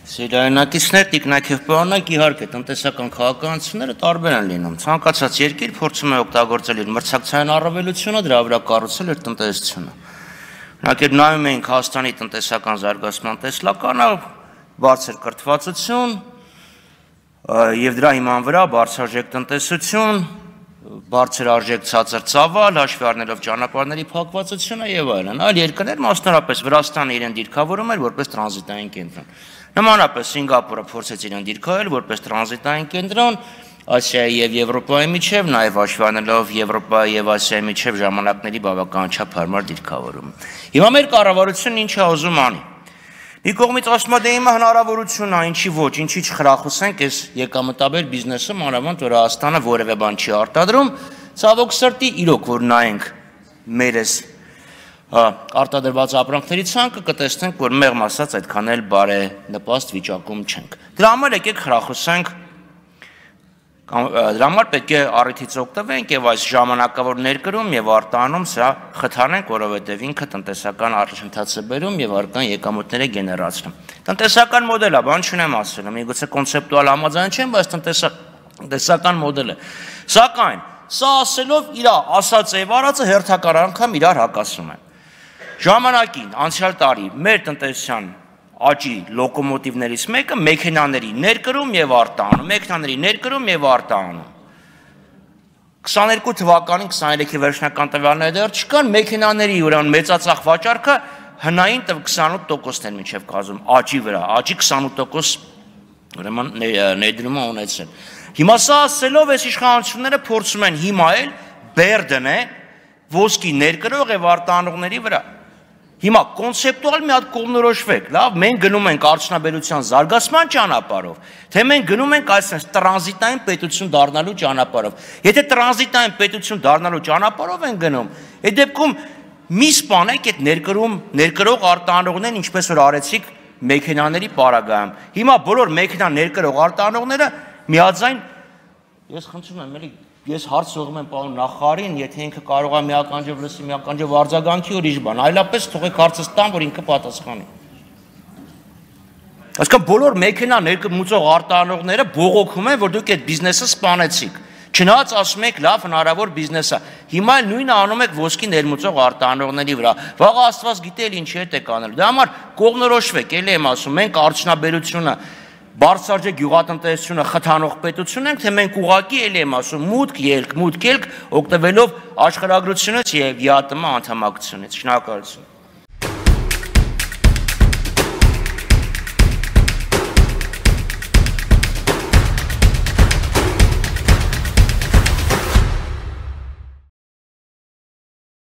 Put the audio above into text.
Սիրահարնակիցներ, տիկնակ և պարոնակ, իհարկե տնտեսական քաղաքականությունները տարբեր են լինում։ Ցանկացած երկիր փորձում է օգտագործել իր մրցակցային առավելությունը, դրա վրա կառուցել իր տնտեսությունը։ Օրինակ, երբ նայում էինք Հայաստանի տնտեսական զարգացման տեսլականը, բարձր կրթվածություն եւ դրա հիման վրա բարձրարժեք տնտեսություն, բարձր արժեք ցածր ծավալ, հաշվի առնելով ճանապարհների փակվածությունը եւ այլն։ Այլ երկրներ, մասնավորապես Վրաստանը իրեն դիրքավորում էր որպես տրանզիտային կենտրոն։ Նմանապես Սինգապուրը փորձեց իրեն դիրքավորել որպես տրանզիտային կենտրոն Ասիայի եւ Եվրոպայի միջև, նաեւ հաշվի առնելով Եվրոպայի եւ Ասիայի միջև ժամանակների բավական չափ հարմար դիրքավորում։ Հիմա մեր կառավարությունն ինչ է ուզում անի։ Մի կողմից ասում է, դե հիմա հնարավորություն է, ինչի ոչ, ինչի չխրախուսենք այս եկամտաբեր բիզնեսը, մանավանդ որ Հայաստանը որևէ բան չի արտադրում, ցավոք սրտի իրոք որ նայենք մեր այս արտադրված ապրանքների ցանկը կտեսնենք, որ մեղմ ասած այդքան էլ բարենպաստ վիճակում չենք։ Դրա համար եկեք խրախուսենք, դրա համար պետք է առիթից օգտվենք եւ այս ժամանակավոր ներկրում եւ արտահանում սա խթանենք, որովհետեւ ինքը տնտեսական առաջընթաց է բերում եւ արկան եկամուտներ է գեներացնում։ Տնտեսական մոդելը, բան չունեմ ասել, միգուցե կոնցեպտուալ համաձայն չեմ, բայց տնտեսական մոդել է։ Սակայն սա ասելով իր ասած եւ արածը հերթական անգամ իրար հակասում են։ Ժամանակին անցյալ տարի մեր տնտեսության աճի լոկոմոտիվներից մեկը մեքենաների ներկրում եւ արտահանում, մեքենաների ներկրում եւ արտահանում։ 22 թվականին 23-ի վերջնական տվյալները դեռ չկան, մեքենաների ուրեմն մեծածախ վաճառքը հնային 28%-ն էր մինչև կազմում աճի վրա, աճի 28% ուրեմն ներդրում ունեցել։ Հիմա սա ասելով այս իշխանությունները փորձում են հիմա էլ բեր դնել ոսկի ներկրող եւ արտահանողների վրա։ Հիմա կոնցեպտուալ մի հատ կողմնորոշվեք, լավ, մենք գնում ենք արդյունաբերության զարգացման ճանապարհով, թե մենք գնում ենք այսպես տրանզիտային պետություն դառնալու ճանապարհով։ Եթե տրանզիտային պետություն դառնալու ճանապարհով են գնում, այդ դեպքում մի սպանեք այդ ներկրող արտահանողներն, ինչպես որ արեցիք մեքենաների պարագայում։ Հիմա բոլոր մեքենա ներկրող արտահանողները միաձայն, ես խնդրում եմ, էլի ես հարց ուղղում եմ պարոն նախարարին, եթե ինքը կարող է մի ականջով լսի, մի ականջով արձագանքի ուրիշ բան, այլապես թողեք հարցը տան, որ ինքը պատասխանի։ Այսինքն բոլոր մեքենա ներմուծող արտահանողները բողոքում են, որ դուք այդ բիզնեսը սպանեցիք։ Չնայած ասում եք լավ հնարավոր բիզնես է։ Հիմա նույնը անում եք ոսկի ներմուծող արտահանողների վրա։ Վաղ Աստված գիտե ինչ հետ եք անել։ Դրա համար կողմնորոշվեք, էլի եմ ասում, մենք արդյունաբերությունը բարձրաճեք գյուղատնտեսությունը խթանող պետություն ենք, թե մենք ուղղակի էլի եմ ասում մուտք ելք օգտվելով աշխարհագրությունից եւ ԵԱՏՄ անդամակցությունից։ Շնորհակալություն։